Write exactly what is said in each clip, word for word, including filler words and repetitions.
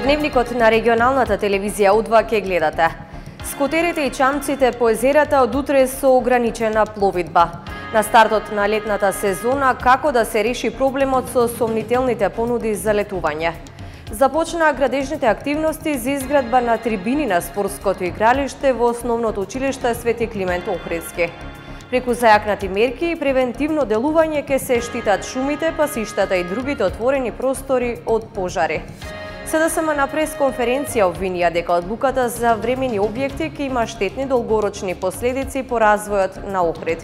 Дневникот на регионалната телевизија У два ке гледате. Скутерите и чамците по езерата од утре со ограничена пловидба. На стартот на летната сезона, како да се реши проблемот со сомнителните понуди за летување. Започнаа градежните активности за изградба на трибини на спортското игралиште во основното училиште Свети Климент Охридски. Преку зајакнати мерки и превентивно делување ќе се штитат шумите, пасиштата и другите отворени простори од пожари. СДСМ на пресконференција обвинија дека одлуката за времени објекти ќе има штетни долгорочни последици по развојот на Охрид.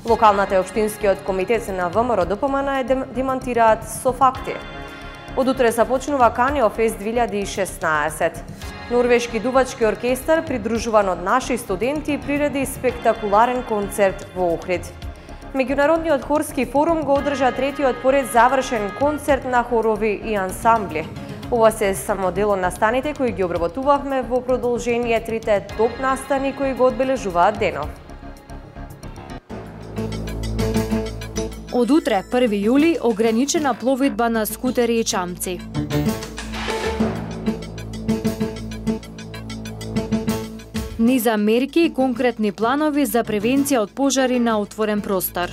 Локалната и општинскиот комитет на ВМРО Д П М Н демантираат со факти. Од утре започнува Канео Фест две илјади и шеснаесет. Норвешки дувачки оркестар, придружуван од наши студенти, приреди спектакуларен концерт во Охрид. Меѓународниот хорски форум го одржа третиот поред завршен концерт на хорови и ансамбли. Ова се само дел од настаните кои ги обработувавме во продолжение трите топ настани кои го одбележуваат денов. Од утре, први јули, ограничена пловидба на скутери и чамци. Низа мерки и конкретни планови за превенција од пожари на отворен простор.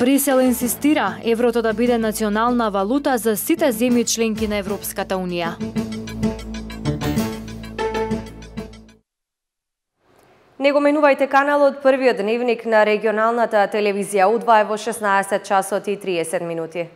Брисел инсистира еврото да биде национална валута за сите земји членки на Европската Унија. Не го менувајте каналот, првиот дневник на регионалната телевизија У два е во шеснаесет часот и триесет минути.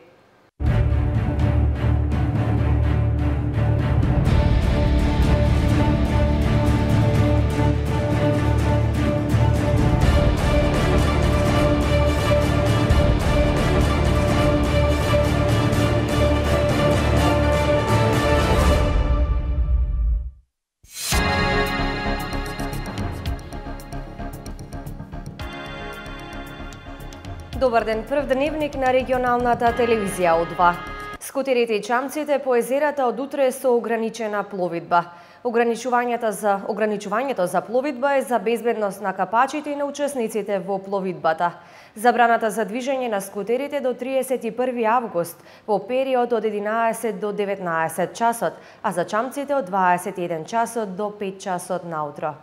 Добар ден, прв дневник на регионалната телевизија У два. Скутерите и чамците по езерата од утре со ограничена пловидба. Ограничувањето за ограничувањето за пловидба е за безбедност на капачите и на учесниците во пловидбата. Забраната за движење на скутерите до триесет и први август во период од единаесет до деветнаесет часот, а за чамците од дваесет и еден часот до пет часот наутро.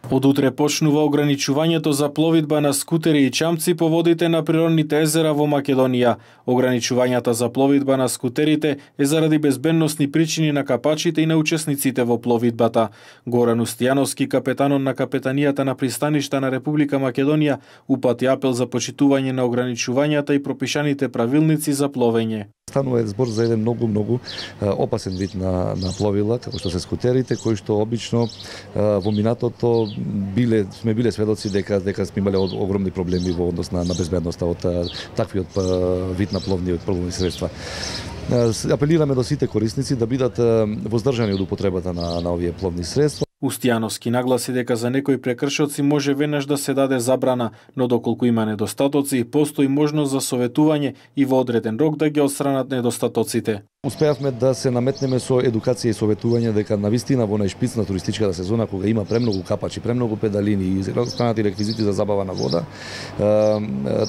Од утре почнува ограничувањето за пловидба на скутери и чамци по водите на природните езера во Македонија. Ограничувањата за пловидба на скутерите е заради безбедносни причини на капачите и на учесниците во пловидбата. Горан Устијановски, капетанот на капетанијата на пристаништа на Република Македонија, упати апел за почитување на ограничувањата и пропишаните правилници за пловење. Станува збор за еден многу многу опасен вид на на пловила, како што се скутерите, кои што обично во минатото биле сме биле сведоци дека дека сме имале огромни проблеми во однос на, на безбедноста од таквиот вид на пловни пловни средства. Апелираме до сите корисници да бидат воздржани од употребата на на овие пловни средства. Устијановски нагласи дека за некои прекршоци може веднаш да се даде забрана, но доколку има недостатоци, постои можност за советување и во одреден рок да ги отстранат недостатоците. Успеавме да се наметнеме со едукација и советување дека навистина во најшпиц на туристичката сезона, кога има премногу капачи, премногу педалини и останати реквизити за забава на вода,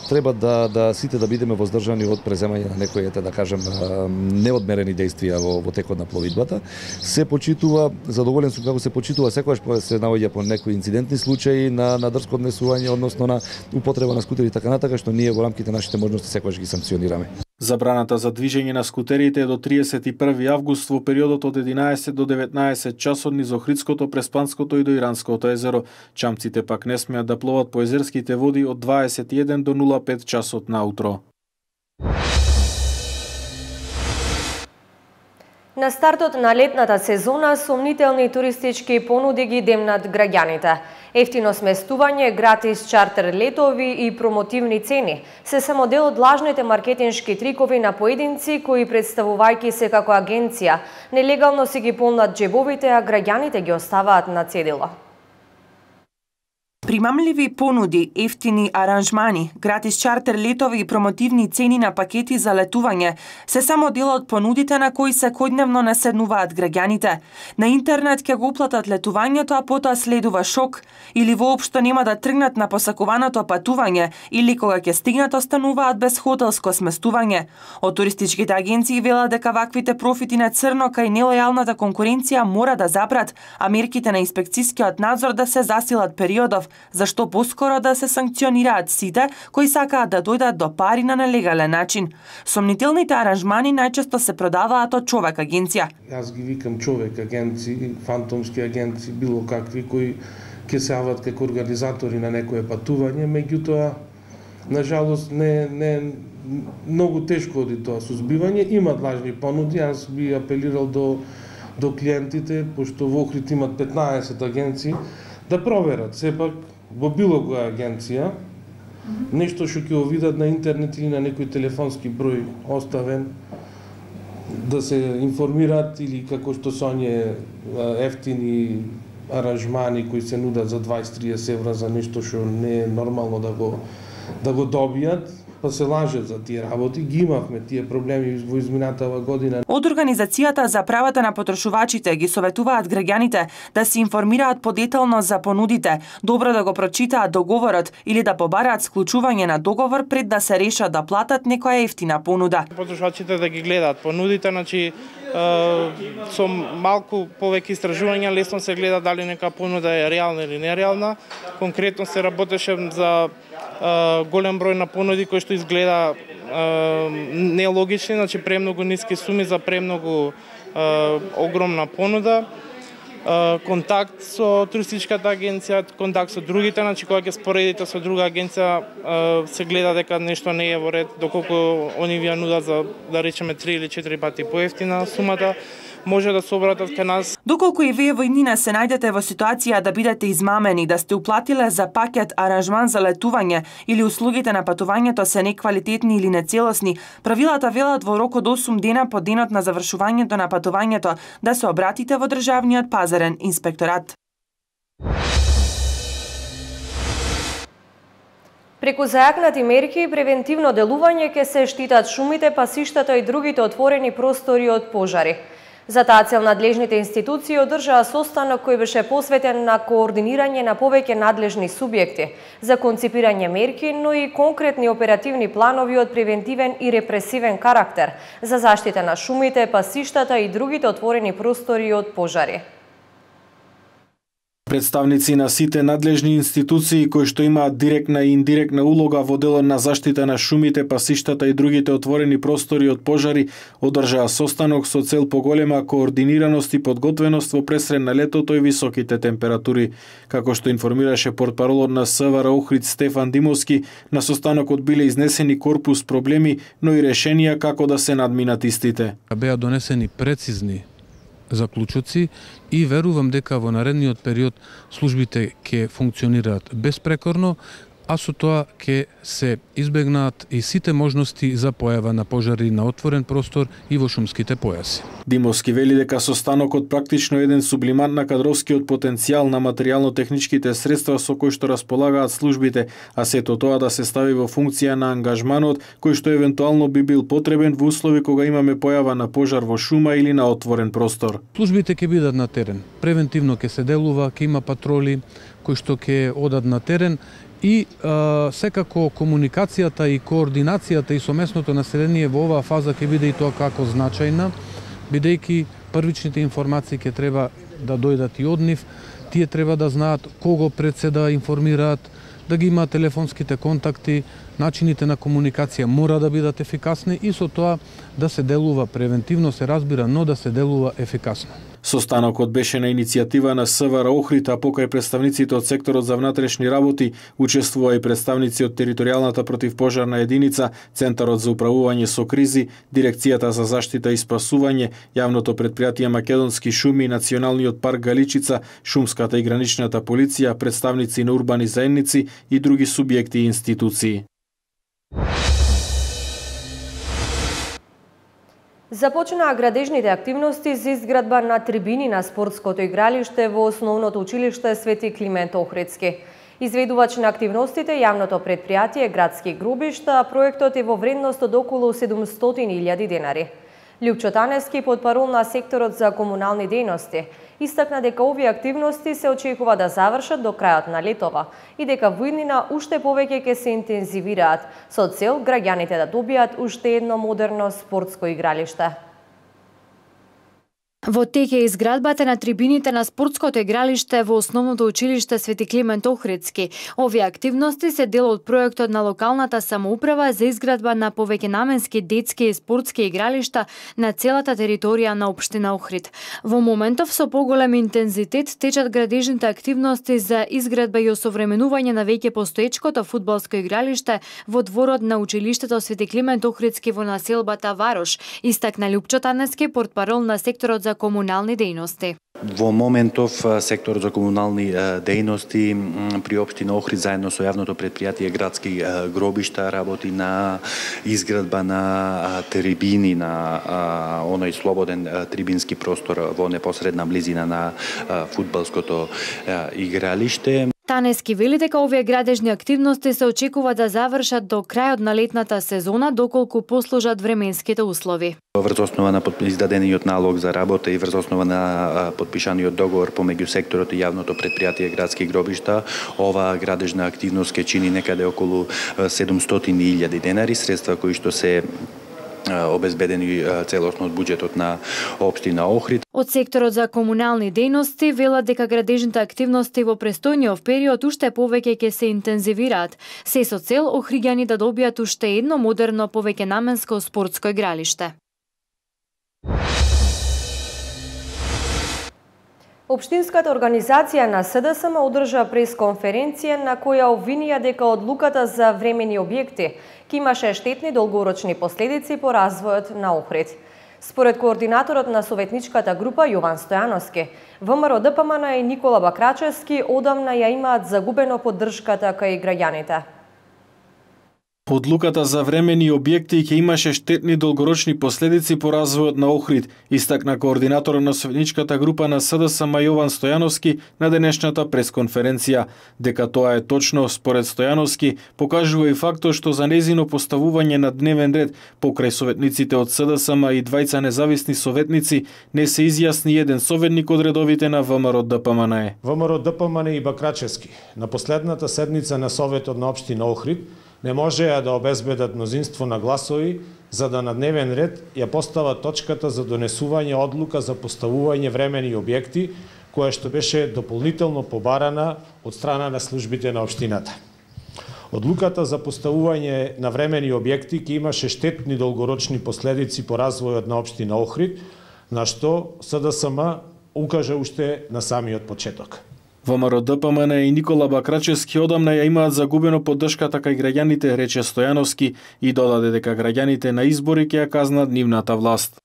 треба да да сите да бидеме воздржани од преземање на некои, да кажем, неодмерени дејствија во, во текот на пловидбата. Се почитува, задоволен сум како се почитува секогаш се наоѓа по некои инцидентни случаи на на дрско однесување, односно на употреба на скутери и така натака, што ние во рамките на нашите можности секогаш ги санкционираме. Забраната за движење на скутерите е до триесет и први август во периодот од единаесет до деветнаесет часот низ Охридското, Преспанското и до Иранското езеро. Чамците пак не смеат да пловат по езерските води од дваесет и еден до нула пет часот наутро. На стартот на летната сезона сомнителни туристички понуди ги демнат граѓаните. Ефтино сместување, гратис чартер летови и промотивни цени се само дел од лажните маркетиншки трикови на поединци кои, представувајќи се како агенција, нелегално си ги полнат џебовите, а граѓаните ги оставаат на цедило. Примамливи понуди, ефтини аранжмани, гратис чартер летови и промотивни цени на пакети за летување се само дел од понудите на кои секојдневно наседнуваат граѓаните. На интернет ќе го уплатат летувањето, а потоа следува шок, или воопшто нема да тргнат на посакуваното патување, или кога ќе стигнат остануваат без хотелско сместување. Од туристичките агенции велат дека ваквите профити на црно кај нелојалната конкуренција мора да запрат, а мерките на инспекцискиот надзор да се засилат периодов, зашто поскоро да се санкционираат сите кои сакаат да дојдат до пари на нелегален начин. Сомнителните аранжмани најчесто се продаваат од човек агенција. Јас ги викам човек агенции, фантомски агенции, било какви кои ќе се јават како организатори на некое патување, меѓутоа на жалост не не многу тешко оди тоа сузбивање, имат лажни понуди. Јас би апелирал до до клиентите, пошто во Охрид имат петнаесет агенции, да проверат сепак во било која агенција нешто што ќе го видат на интернет или на некој телефонски број оставен, да се информираат, или како што се оние ефтини аранжмани кои се нудат за дваесет до триесет евра за нешто што не е нормално да го да го добијат, па се лажат за тие работи. Ги имавме тие проблеми во изминатава година. Од Организацијата за правата на потрошувачите ги советуваат граѓаните да се информираат подетално за понудите, добро да го прочитаат договорот или да побараат склучување на договор пред да се решат да платат некоја ефтина понуда. Потрошувачите да ги гледаат понудите, значи со малку повеќе истражувања лесно се гледа дали нека понуда е реална или нереална. Конкретно се работеше за голем број на понуди кои што изгледа нелогични, значи премногу ниски суми за премногу огромна понуда. Контакт со туристичката агенција, контакт со другите, значи кога ќе споредите со друга агенција се гледа дека нешто не е во ред, доколку они ви ја нудат за, да речеме, три или четири пати поевтина сумата, може да се обратат кај нас. Доколку и вие во иднина се најдете во ситуација да бидете измамени, да сте уплатиле за пакет аранжман за летување или услугите на патувањето се неквалитетни или нецелосни, правилата велат во рок од осум дена по денот на завршувањето на патувањето да се обратите во државниот пазарен инспекторат. Преку зајакнати мерки и превентивно делување ќе се штитат шумите, пасиштата и другите отворени простори од пожари. За таа цел надлежните институции одржаа состанок кој беше посветен на координирање на повеќе надлежни субјекти за конципирање мерки, но и конкретни оперативни планови од превентивен и репресивен карактер за заштита на шумите, пасиштата и другите отворени простори од пожари. Представници на сите надлежни институции кои што имаат директна и индиректна улога во делот на заштита на шумите, пасиштата и другите отворени простори од пожари одржаа состанок со цел поголема координираност и подготвеност во пресред на летото и високите температури. Како што информираше портпаролот на СВР Охрид Стефан Димовски, на состанокот биле изнесени корпус проблеми, но и решенија како да се надминат истите. Беа донесени прецизни заклучоци и верувам дека во наредниот период службите ќе функционираат безпрекорно, а со тоа ќе се избегнаат и сите можности за појава на пожари на отворен простор и во шумските појаси. Димовски вели дека состанокот практично еден сублимат на кадровскиот потенцијал на материјално-техничките средства со кои што располагаат службите, а сето тоа да се стави во функција на ангажманот кој што евентуално би бил потребен во услови кога имаме појава на пожар во шума или на отворен простор. Службите ќе бидат на терен. Превентивно ќе се делува, ќе има патроли кои што ќе одат на терен, и а, секако комуникацијата и координацијата и со местното население во оваа фаза ќе биде и тоа како значајна, бидејќи првичните информации ќе треба да дојдат и од нив, тие треба да знаат кого пред се да информираат, да ги имаат телефонските контакти, начините на комуникација мора да бидат ефикасни и со тоа да се делува превентивно, се разбира, но да се делува ефикасно. Состанокот беше на иницијатива на СВР Охрид, а покај представниците од секторот за внатрешни работи учествува и представници од територијалната противпожарна единица, Центарот за управување со кризи, Дирекцијата за заштита и спасување, Јавното претпријатие Македонски шуми, Националниот парк Галичица, Шумската и граничната полиција, представници на урбани заедници и други субјекти и институции. Започнаа градежните активности за изградба на трибини на спортското игралиште во основното училиште Свети Климент Охридски. Изведувач на активностите јавното предпријатие Градски гробишта, проектот е во вредност од околу седумстотини илјади денари. Лјупчо Таневски, потпарол на секторот за комунални дејности, истакна дека овие активности се очекува да завршат до крајот на летова и дека во иднина уште повеќе ќе се интензивираат со цел граѓаните да добијат уште едно модерно спортско игралиште. Во тек е изградбата на трибините на спортското игралиште во Основното училиште Свети Климент Охридски. Овие активности се дел од проектот на локалната самоуправа за изградба на повеќенаменски детски и спортски игралишта на целата територија на општина Охрид. Во моментов со поголем интензитет течат градежните активности за изградба и осовременување на веќе постоечкото фудбалско игралиште во дворот на училиштето Свети Климент Охридски во населбата Варош, истакна Лјупчо Таневски, портпарол на секторот за комунални дејности. Во моментов секторот за комунални дејности при општина Охрид заедно со јавното предпријатие Градски гробишта работи на изградба на трибини, на оној слободен трибински простор во непосредна близина на фудбалското игралиште. Таневски вели дека овие градежни активности се очекува да завршат до крајот на летната сезона, доколку послужат временските услови. Врз основа на издадениот налог за работа и врз основа на подпишаниот договор помеѓу секторот и јавното предпријатие Градски гробишта, оваа градежна активност ќе чини некаде околу седумстотини илјади денари, средства кои што се обезбедени целосно од буџетот на општина Охрид. Од секторот за комунални дејности велат дека градежните активности во престојниот период уште повеќе ќе се интензивираат, се со цел охриѓани да добијат уште едно модерно повеќенаменско спортско игралиште. Општинската организација на СДСМ одржа пресконференција на која обвинија дека одлуката за времени објекти ќе имаше штетни долгорочни последици по развојот на Охрид. Според координаторот на советничката група Јован Стојановски, ВМРО Д П М Н и Никола Бакрачевски одамна ја имаат загубено поддршката кај граѓаните. Одлуката за времени објекти ќе имаше штетни долгорочни последици по развојот на Охрид, истакна координаторот на советничката група на СДСМ Јован Стојановски на денешната пресконференција. Дека тоа е точно, според Стојановски, покажува и фактот што за незино поставување на дневен ред покрај советниците од СДСМ и двајца независни советници не се изјасни еден советник од редовите на ВМРО Д П М Н Е. ВМРО Д П М Н и Бакрачевски на последната седница на Советот на општина Охрид не можеа да обезбедат мнозинство на гласови за да на дневен ред ја постават точката за донесување одлука за поставување времени објекти, која што беше дополнително побарана од страна на службите на општината. Одлуката за поставување на времени објекти ќе имаше штетни долгорочни последици по развојот на општина Охрид, на што СДСМ укажа уште на самиот почеток. ВМРО Д П М Н и Никола Бакрачевски одамна ја имаат загубено поддршката кај граѓаните, рече Стојановски, и додаде дека граѓаните на избори ќе ја казнат нивната власт.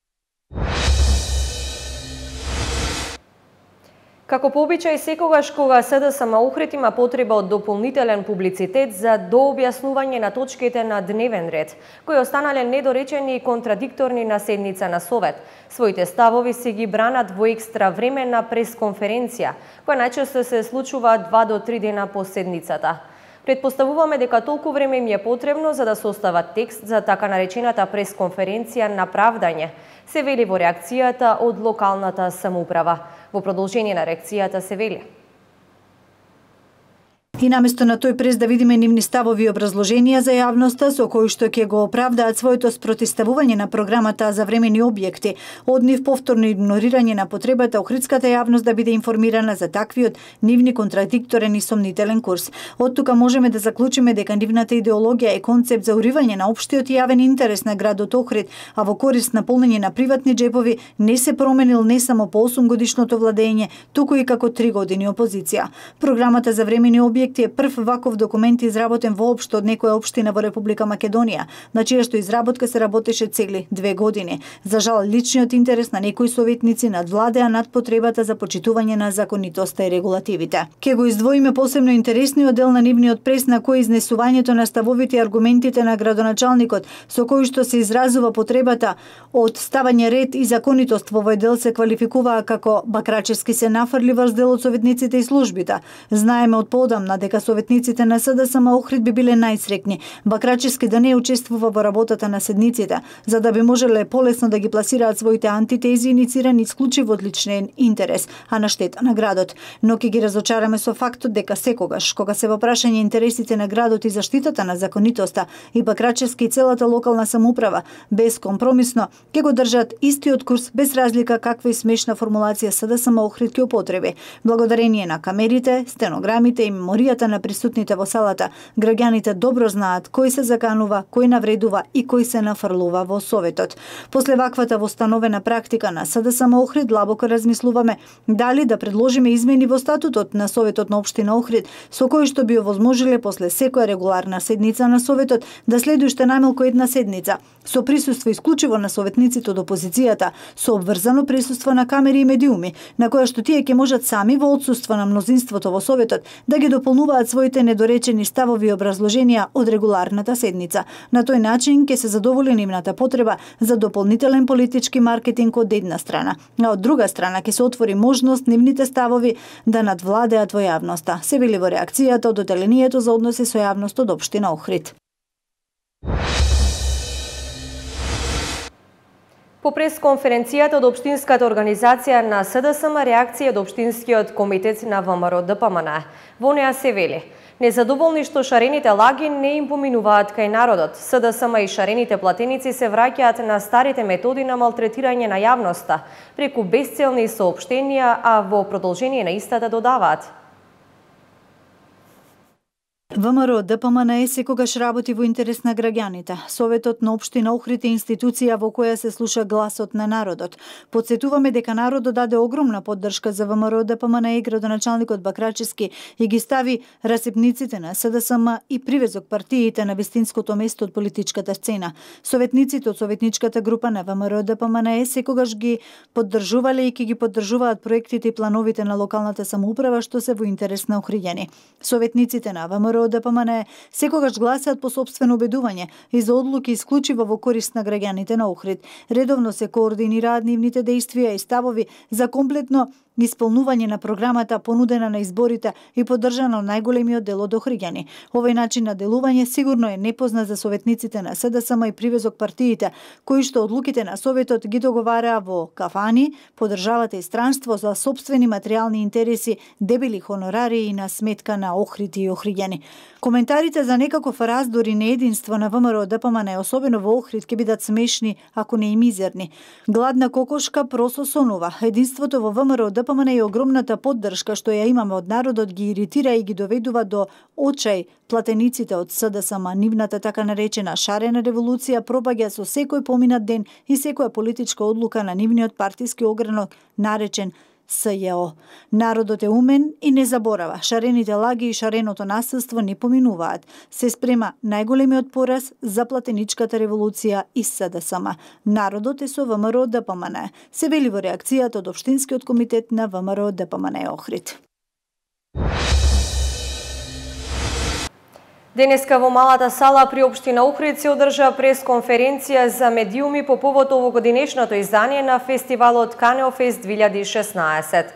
Како по обичај секогаш кога СДСМ Охрид има потреба од дополнителен публицитет за дообјаснување на точките на дневен ред, кои останале недоречени и контрадикторни на седница на Совет, своите ставови се ги бранат во екстра време на пресконференција, која најчесто се случува два до три дена по седницата. Предпоставуваме дека толку време им е потребно за да состава текст за така наречената пресконференција на правдање, се вели во реакцијата од локалната самоуправа. Во продолжение на реакцијата се вели: И наместо на тој прес да видиме нивни ставови и образложенија за јавноста со кои што ќе го оправдаат своето спротиставување на програмата за времени објекти, од нив повторно игнорирање на потребата охридската јавност да биде информирана за таквиот нивни контрадикторен и сомнителен курс. Од тука можеме да заклучиме дека нивната идеологија е концепт за уривање на општиот и јавен интерес на градот Охрид, а во корист на полнење на приватни джепови не се променил не само по осум годишното владење, туку и како три години опозиција. Програмата за времени објекти е прв ваков документ изработен воопшто од некоја општина во Република Македонија, на чија што изработка се работеше цели две години. За жал, личниот интерес на некои советници надвладеа над потребата за почитување на законитоста и регулативите. Ке го издвоиме посебно интересниот дел на нивниот прес на кој изнесувањето на ставовите и аргументите на градоначалникот со кои што се изразува потребата од ставање ред и законитост во овој дел се квалификуваа како Бакрачевски се нафрли врз дел од советниците и службите. Знаеме од поодамна дека советниците на СДСМ Охрид би биле најсрекни Бакрачевски да не учествува во работата на седниците, за да би можеле полесно да ги пласираат своите антитези иницирани исклучиво од личен интерес, а на штета на градот. Но ќе ги разочараме со фактот дека секогаш, кога се во прашање интересите на градот и заштитата на законитоста, и Бакрачевски и целата локална самоуправа безкомпромисно ќе го држат истиот курс без разлика каква и смешна формулација СДСМ Охрид ќе употреби. Благодарение на камерите, стенограмите и меморијата на присутните во салата, граѓаните добро знаат кој се заканува, кој навредува и кој се нафрлува во советот. После ваквата востановена практика на СДСМ Охрид длабоко размислуваме дали да предложиме измени во статутот на Советот на општина Охрид, со кои што би овозможиле после секоја регуларна седница на Советот да следи уште најмалку една седница, со присуство исклучиво на советниците од опозицијата, со обврзано присуство на камери и медиуми, на која што тие ќе можат сами во отсуство на мнозинството во Советот да ги дополнуваат своите недоречени ставови и образложенија од регуларната седница. На тој начин ќе се задоволи нивната потреба за дополнителен политички маркетинг од една страна, а од друга страна ќе се отвори можност нивните ставови да надвладеат во јавноста, се вели во реакцијата од Одделението за односи со јавност од општина Охрид. По пресконференцијата од Општинската организација на СДСМ реакција од Општинскиот комитет на ВМРО ДПМН. Во неа се вели: незадоволни што шарените лаги не им поминуваат кај народот. СДСМ и шарените платеници се враќаат на старите методи на малтретирање на јавноста преку безцелни соопштенија, а во продолжение на истата додаваат: ВМРО ДПМН секогаш работи во интерес на граѓаните. Советот на општина Охрид е институција во која се слуша гласот на народот. Подсетуваме дека народот даде огромна поддршка за ВМРО ДПМН и градоначалникот Бакрачевски и ги стави расипниците на СДСМ и привезок партиите на вистинското место од политичката сцена. Советниците од советничката група на ВМРО ДПМН секогаш ги поддржувале и ќе ги поддржуваат проектите и плановите на локалната самоуправа што се во интерес на охриѓани. Советниците на ВМРО ДПМН секогаш гласаат по сопствено убедување и за одлуки исклучиво во корист на граѓаните на Охрид. Редовно се координираат нивните дејствија и ставови за комплетно исполнување на програмата понудена на изборите и поддржана од најголемиот дел од охриѓани. Овој начин на делување сигурно е непознат за советниците на СДСМ и привезок партиите, кои што одлуките на Советот ги договараа во кафани, по државата и странство за сопствени материјални интереси, дебели хонорари и на сметка на Охрид и охриѓани. Коментарите за некаков раздор и неединство на ВМРО ДПМН, особено во Охрид, ќе бидат смешни, ако не и мизерни. Гладна кокошка просо сонува. Единството во ВМРО ДПМН и огромната поддршка што ја имаме од народот ги иритира и ги доведува до очај платениците од СДСМ. Нивната така наречена шарена револуција пропаѓа со секој поминат ден и секоја политичка одлука на нивниот партиски огранок наречен СЈО. Народот е умен и не заборава. Шарените лаги и шареното насилство не поминуваат. Се спрема најголемиот пораз за платеничката револуција и СДСМ. Народот е со ВМРО ДПМН. Се вели во реакцијата од Општинскиот комитет на ВМРО ДПМН Охрид. Денеска во малата сала при општина Охрид се одржа пресконференција за медиуми по повод овогодинешното издание на фестивалот Канеофест две илјади и шеснаесет.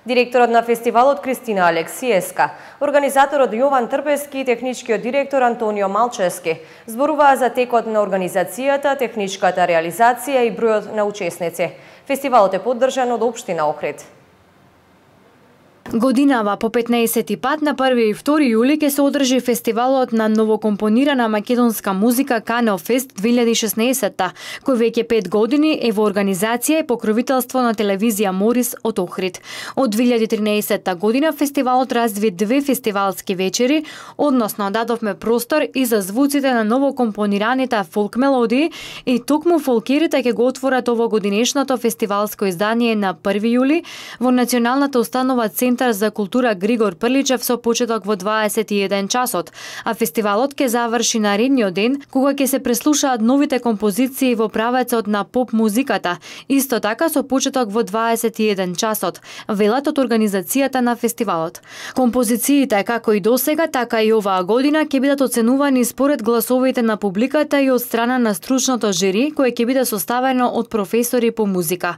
Директорот на фестивалот Кристина Алексиевска, организаторот Јован Трпески и техничкиот директор Антонио Малчевски зборуваа за текот на организацијата, техничката реализација и бројот на учесници. Фестивалот е поддржан од општина Охрид. Годинава по петнаесети пат на први и втори јули ќе се одржи фестивалот на новокомпонирана македонска музика Канеофест две илјади и шеснаесет, кој веќе пет години е во организација и покровителство на телевизија Морис од Охрид. Од две илјади и тринаесетта година фестивалот разви две фестивалски вечери, односно дадовме простор и за звуците на новокомпонираните фолк мелодии и токму фолкерите ќе го отворат овогодинешното фестивалско издание на први јули во Националната установа Центар за култура Григор Прличев со почеток во дваесет и еден часот, а фестивалот ќе заврши наредниот ден кога ќе се преслушаат новите композиции во правецот на поп музиката, исто така со почеток во дваесет и еден часот, велат од организацијата на фестивалот. Композициите како и досега, така и оваа година ќе бидат оценувани според гласовите на публиката и од страна на стручното жири кое ќе биде составено од професори по музика.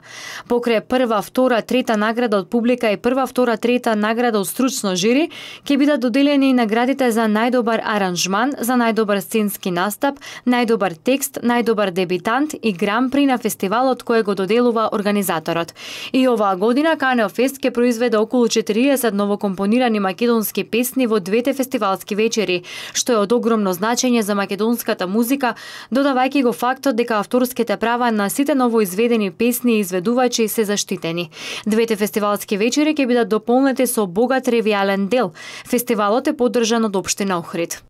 Покрај прва, втора, трета награда од публика и прва, втора, трета трета награда од стручно жири, ќе бидат доделени и наградите за најдобар аранжман, за најдобар сценски настап, најдобар текст, најдобар дебитант и гран-при на фестивалот кој го доделува организаторот. И оваа година Канео Фест ќе произведе околу четириесет новокомпонирани македонски песни во двете фестивалски вечери, што е од огромно значење за македонската музика, додавајќи го фактот дека авторските права на сите новоизведени песни и изведувачи се заштитени. Двете фестивалски вечери ќе бидат дополнети со богат ревијален дел. Фестивалот е поддржан од општина Охрид.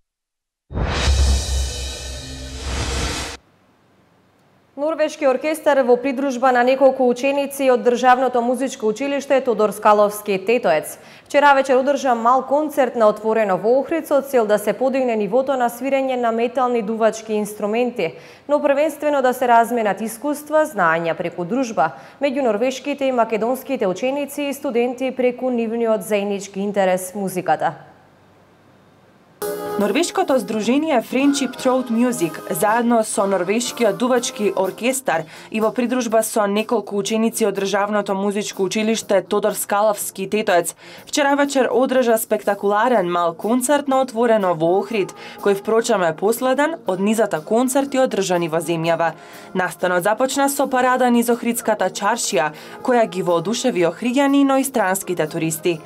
Норвешки оркестар во придружба на неколку ученици од Државното музичко училиште Тодор Скаловски Тетоец вчера вечер одржа мал концерт на отворено во Охрид со цел да се подигне нивото на свирење на метални дувачки инструменти, но првенствено да се разменат искуства, знаења преку дружба меѓу норвешките и македонските ученици и студенти преку нивниот заеднички интерес музиката. Норвешкото здружение Friendship Throat Music заедно со Норвешкиот дувачки оркестар и во придружба со неколку ученици од Државното музичко училиште Тодор Скаловски Тетоец вчера вечер одржа спектакуларен мал концерт на отворено во Охрид, кој впрочем е последен од низата концерти одржани во земјава. Настанот започна со парада низ Охридската чаршија, која ги воодушеви охриѓани, но и странските туристи.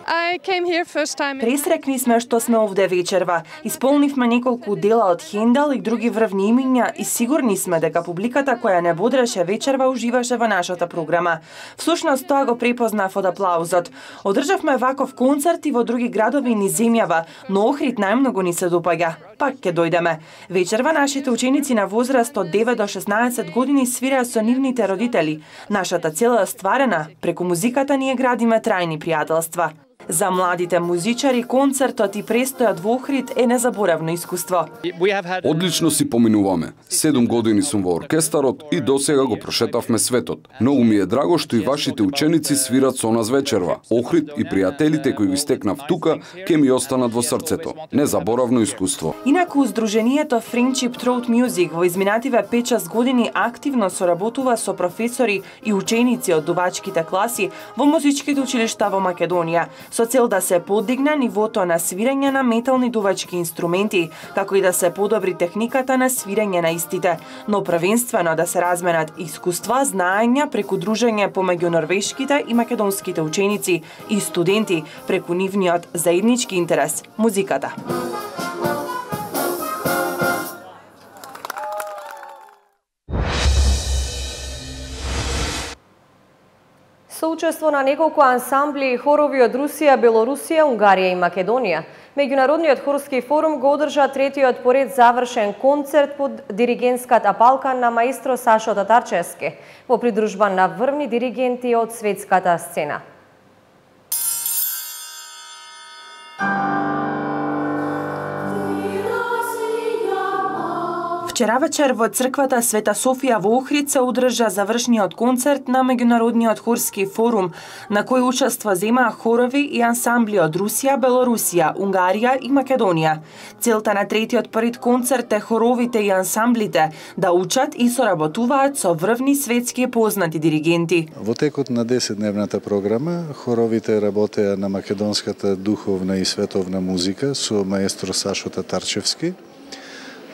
Пресрекни сме што сме овде вечерва. Исполнивме неколку дела од Хендел и други врвни имиња и сигурни сме дека публиката која не бодреше вечерва уживаше во нашата програма. Всушност тоа го препознав од аплаузот. Одржавме ваков концерт и во други градови низ земјава, но Охрид најмногу ни се допаѓа. Пак ќе дојдеме. Вечерва нашите ученици на возраст од девет до шеснаесет години свираа со нивните родители. Нашата цел е стварена, преку музиката ние градиме трајни пријателства. За младите музичари концертот и престојот во Охрид е незаборавно искуство. Одлично си поминуваме. Седум години сум во оркестарот и досега го прошетавме светот. Многу ми е драго што и вашите ученици свират со нас вечерва. Охрид и пријателите кои ги стекнав тука ќе ми останат во срцето. Незаборавно искуство. Инаку здруженијето Friendship Throat Music во изминативе пет-шест години активно соработува со професори и ученици од дувачките класи во музичките училишта во Македонија, со цел да се подигне нивото на свирење на метални дувачки инструменти, како и да се подобри техниката на свирење на истите, но првенствено да се разменат искуства, знаења преку дружење помеѓу норвешките и македонските ученици и студенти преку нивниот заеднички интерес – музиката. Соучество на неколку ансамбли и хорови од Русија, Белорусија, Унгарија и Македонија. Меѓународниот хорски форум го одржа третиот поред завршен концерт под диригентската палка на маестро Сашо Татарчевски во придружба на врвни диригенти од светската сцена. Вчера вечер во црквата Света Софија во Охрид се одржа завршниот концерт на Меѓународниот хорски форум, на кој учество земаа хорови и ансамбли од Русија, Белорусија, Унгарија и Македонија. Целта на третиот поред концерт е хоровите и ансамблите да учат и соработуваат со врвни светски познати диригенти. Во текот на десетдневната програма хоровите работеа на македонската духовна и световна музика со маестро Сашо Татарчевски,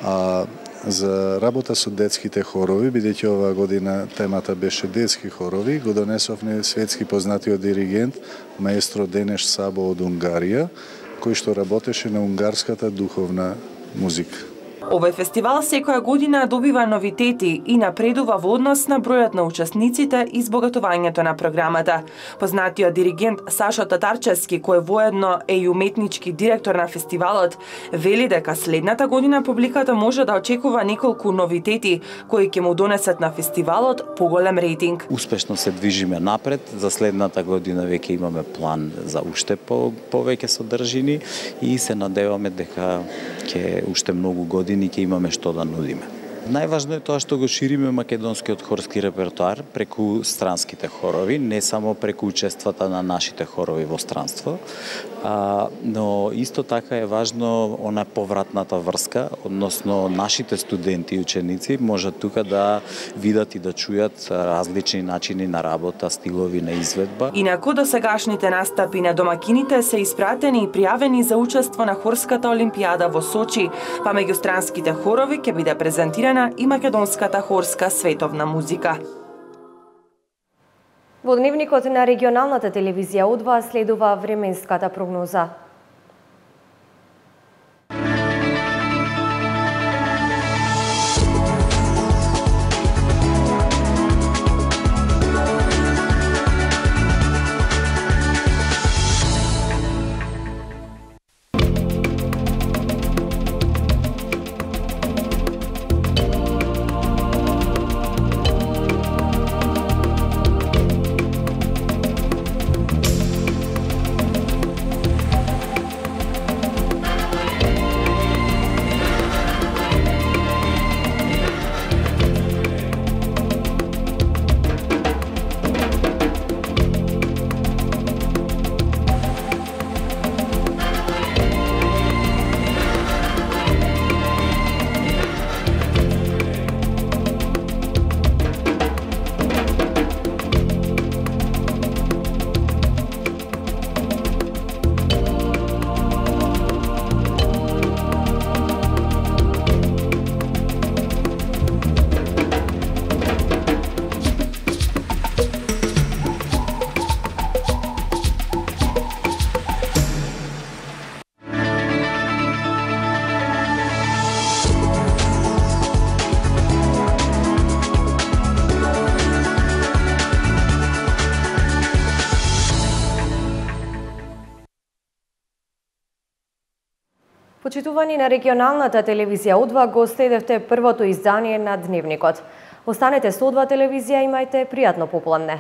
а за работа со детските хорови, бидејќи оваа година темата беше детски хорови, го донесовме светски познатиот диригент маестро Денеш Сабо од Унгарија, кој што работеше на унгарската духовна музика. Овој фестивал секоја година добива новитети и напредува во однос на бројот на учесниците и збогатувањето на програмата. Познатиот диригент Сашо Татарчевски, кој воедно е и уметнички директор на фестивалот, вели дека следната година публиката може да очекува неколку новитети кои ќе му донесат на фестивалот поголем рейтинг. Успешно се движиме напред, за следната година веќе имаме план за уште по, повеќе содржини и се надеваме дека ќе уште многу години ќе имаме што да нудиме. Најважно е тоа што го шириме македонскиот хорски репертоар преку странските хорови, не само преку учествата на нашите хорови во странство, а, но исто така е важно она повратната врска, односно нашите студенти и ученици можат тука да видат и да чујат различни начини на работа, стилови на изведба. Инаку досегашните настапи на домакините се испратени и пријавени за учество на Хорската олимпијада во Сочи, па меѓу странските хорови ќе биде презентирана и македонската хорска световна музика. Во дневникот на регионалната телевизија У два следува временската прогноза. Почитувани на регионалната телевизија У два, го следевте првото издание на Дневникот. Останете со У два телевизија, имајте пријатно попладне.